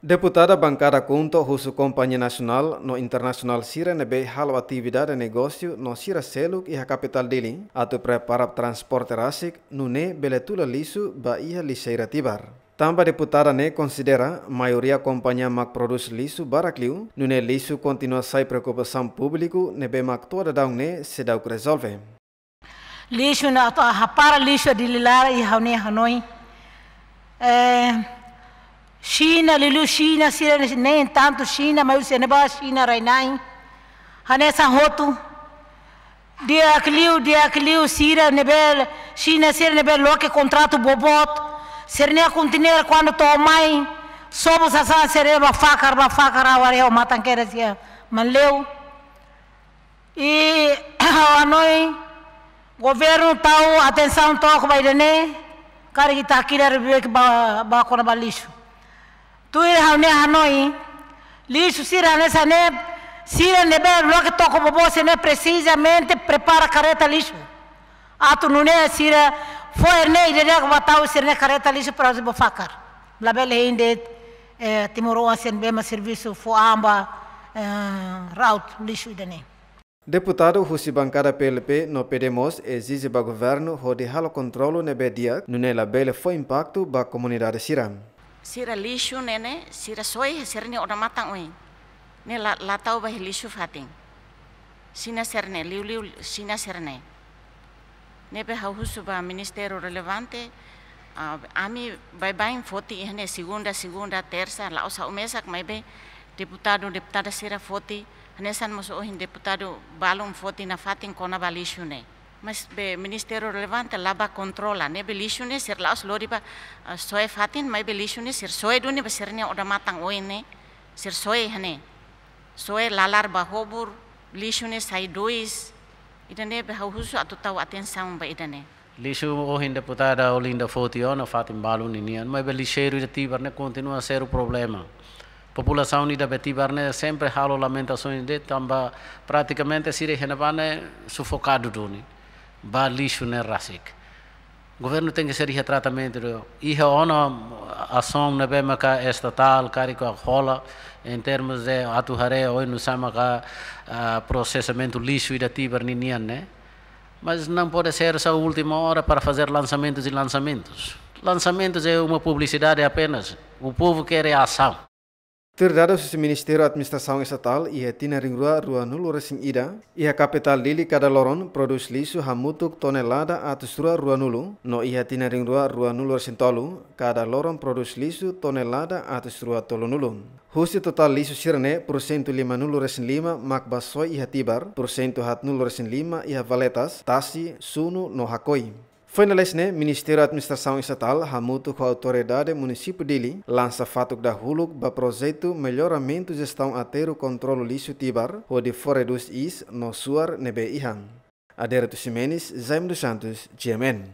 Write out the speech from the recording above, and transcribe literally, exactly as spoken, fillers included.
Deputada bankada KHUNTO husu kompañia nasionál no internasionál sira ne'ebé halo atividade negósiu no sira seluk iha kapitál Dili atu prepara transporte rasik, nune'e bele tula lixu ba iha lixeira Tibar. Tanba deputada ne'e konsidera maioria kompañia mak prodús lixu barak liu, nune'e lixu kontinua sai preokupasaun públiku ne'ebé mak to'o daudaun ne'e seidauk rezolve. Lixu ne'e atu hapara lixu Dili laran, i ha'u-nia hanoin. Eh, Xina, liuliu Xina, sira ne'e, nem tanto Xina, mas se ne'e ba Xina rai-na'in. Hanesan hotu. Di'ak liu, di'ak liu sira ne'ebé, Xina sira ne'ebé loke kontratu boboot. Sira-nia konteiner kuandu to'o mai, sobu sasán sira ba fakar, ba fakar, ha'u haree ho matan kedas iha Manleu. I ha'u hanoin governu tau atensaun took ba ida-ne'e, karik ita hakilar bek ba, ba kona-ba lixu. Tuir ha'u-nia hanoin, lixu sira hanesan ne'e, sira ne'ebé loke toko boboot sira-ne'e precisamente prepara karreta lixu. Atu nune'e sira fó ne'e ida-idak ba tau sira-nia karreta lixu para ba fakar. Labele hein de'it, eh, timoroan sira ne'ebé mak servisu fó an ba, eh, route lixu ida-ne'e. Deputadu husi bankada P L P no P D mós ezije ba governu hodi halo kontrolu ne'ebé di'ak, nune'e labele fó impaktu ba komunidade sira. Sira lixu ne'e ne'e, sira soe sira-nia odamatan oin. Ne'e la, la tau ba iha lixu fatin. Xina sira-ne'e, liuliu Xina sira-ne'e. Ne'ebé ha'u husu ba ministériu relevante, ah, ami baibain foti iha ne'e segunda, segunda, tersa, la'ós ha'u mesak maibé deputadu, deputada sira foti, hanesan mós ohin deputadu balun foti nafatin kona-ba lixu ne'e. Maibé ministériu relevante la bá kontrola, ne'ebé lixu ne'e sira la'ós lori ba, ah, soe fatin, maibé lixu ne'e sira soe duni ba sira-nia odamatan oin ne'e, sira soe iha ne'e. Soe lalar ba hobur, lixu ne'e sai dois, ida-ne'ebé ha'u husu atu tau atensaun ba ida-ne'e. Lixu ohin deputada Olinda foti ona fatin balun ninian, maibé lixeiru ida Tibar ne'e kontinua sériu problema. Populasaun ida be Tibar ne'e sempre halo lamentasaun de'it tanba pratikamente sira iha ne'ebá ne'e sufokadu duni ba lixu ne'e rasik. Governu tenke ser iha tratamentu do, iha ona asaun ne'ebé maka estatál karik hola, em termos de atu haree oinsá maka, ah, prosesamentu lixu ida Tibar ninian ne'e. Mas não pode ser só última hora para fazer lançamentos e lançamentos. Lançamentos é uma publicidade apenas. O povo quer é ação. Tuir dadus husi Ministériu Administrasaun Estatál, iha tinan rihun rua ruanulu-resin-ida, iha kapitál Dili kada loron prodús lixu hamutuk tonelada atus rua ruanulu, no iha tinan rihun rua ruanulu-resin-tolu, kada loron prodús lixu tonelada atus rua tolunulu. Husi totál lixu sira-ne'e, pursentu limanulu-resin-lima mak bá soe iha Tibar, pursentu haatnulu-resin-lima iha valetas, tasi, sunu no hakoi. Foin lalais ne'e, Ministériu Administrasaun Estatál hamutuk ho Autoridade Munisípiu Dili lansa fatuk dahuluk ba projetu melloramentu jestaun aterru kontrolu lixu Tibar, hodi fó redús iis no suar ne'ebé iha. Adérito Ximenes, Jaime dos Santos, G M N.